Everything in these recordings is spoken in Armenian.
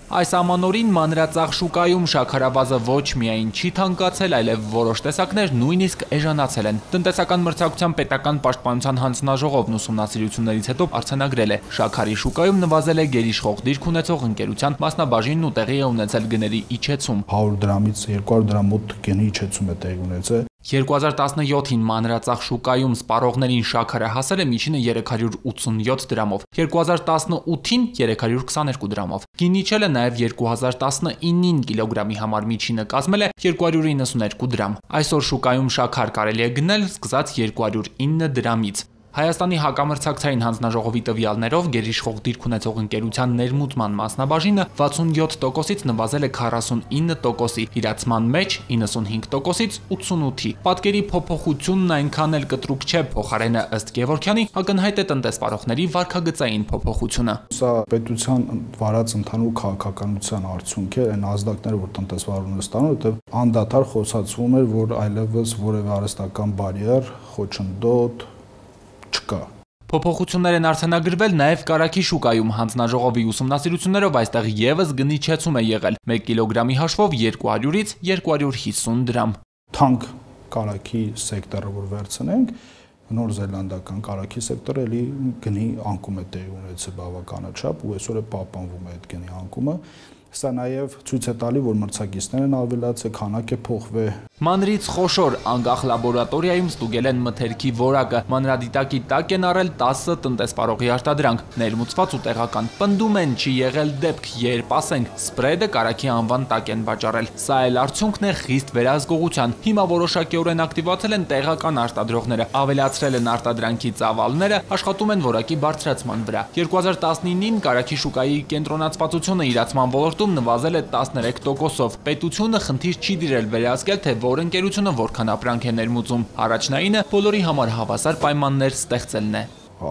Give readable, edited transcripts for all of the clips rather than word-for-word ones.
Այս ամանորին մանրածախ շուկայում շաքարավազը ոչ միայն չի թանկացել, այլև որոշ տեսակներ նույնիսկ էժանացել են։ Տնտեսական մրցակցության պետական պաշտպանության հանձնաժողովն ուսումնասիրություններից հետո արձանագրել է՝ շաքարի շուկայում նվազել է գերիշխող դիրք ունեցող ընկերության մասնաբաժինն ու տեղի է ունեցել գների իջեցում։ 100 դրամից 200 դրամ մոտ գնի իջեցում է տեղի ունեցել։ 2017-ին մանրածախ շուկայում սպառողներին շաքարը հասել է միջինը 387 դրամով, 2018-ին 322 դրամով։ Գինի իջել է նաև 2019-ին կիլոգրամի համար միջինը կազմել է 292 դրամ։ Այսօր շուկայում շաքար կարելի է գնել սկսած 209 դրամից։ Հայաստանի հակամրցակցային հանձնաժողովի տվյալներով գերիշխող դիրք ունեցող ընկերության ներմուծման մասնաբաժինը 67%-ից նվազել է 49%-ի, իրացման մեջ 95%-ից 88-ի։ Պատկերի փոփոխությունն այնքան էլ կտրուկ չէ, փոխարենը ըստ Գևորգյանի ակնհայտ է տնտեսվարողների վարքագծային փոփոխությունը։ Սա պետության վարած ընդհանուր քաղաքականության արդյունք է, այն ազդակները, որ տնտեսվարողները ստանում, որտեղ անդադար խոսացվում էր, որ այլևս որևէ արհեստական բարիեր, խոչընդոտ չկա։ Փոփոխություններ են արձանագրվել նաև կարագի շուկայում։ Հանձնաժողովի ուսումնասիրություններով այստեղ եւս գնի իջեցում է եղել 1 կիլոգրամի հաշվով 200-ից 250 դրամ։ Թանկ կարագի սեկտորը որ վերցնենք, Նոր Զելանդական կարագի սեկտորը էլի գնի անկում է տեղի ունեցել բավականաչափ ու այսօր է պահպանվում է այդ գնի անկումը։ Սա նաև ցույց է տալի, որ մրցակիցներն ավելացել, քանակը փոխվել։ Մանրից խոշոր անկախ լաբորատորիայում ստուգել են մթերքի որակը, մանրադիտակի տակ են առել 10 տնտեսվարողի արտադրանք, ներմուծված ու տեղական։ Պնդում են չի եղել դեպք, երբ ասենք սպրեդը կարագի անվան տակ են վաճառել։ Սա էլ արդյունքն է խիստ վերահսկողության։ Հիմա որոշակիորեն ակտիվացել են տեղական արտադրողները, ավելացրել են արտադրանքի ծավալները, աշխատում են որակի բարձրացման վրա։ 2019-ին կարագի շուկայի կենտրոնացվածությունը իրացման ոլորտում նվազել է 13%-ով։ Պետությունը խնդիր չի դիրել վերահսկել, թե որ ընկերությունը որքան ապրանք է ներմուծում։ Առաջնայինը բոլորի համար հավասար պայմաններ ստեղծելն է։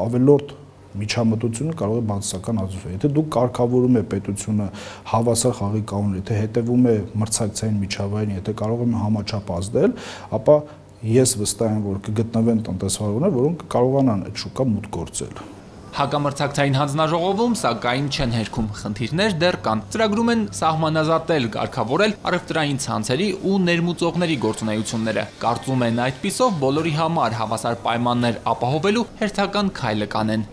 Ավելորդ միջամտությունը կարող է բացասական ազդեցություն։ Եթե դուք կարգավորում եք պետությունը հավասար խաղի կանոններ, եթե հետևում է մրցակցային միջավայրին, եթե կարող է համաչափ ազդել, ապա ես վստահ եմ, որ կգտնվեն տնտեսվարողներ, որոնք կարողանան այդ շուկա մուտք գործել։ Հակամրցակցային հանձնաժողովում սակայն չեն հերքում, խնդիրներ դեռ կան։ Ծրագրում են սահմանազատել, կարգավորել առևտրային ցանցերի ու ներմուծողների գործունեությունները։ Կարծում են այդպիսով բոլորի համար հավասար պայմաններ ապահովելու հերթական քայլը կանեն։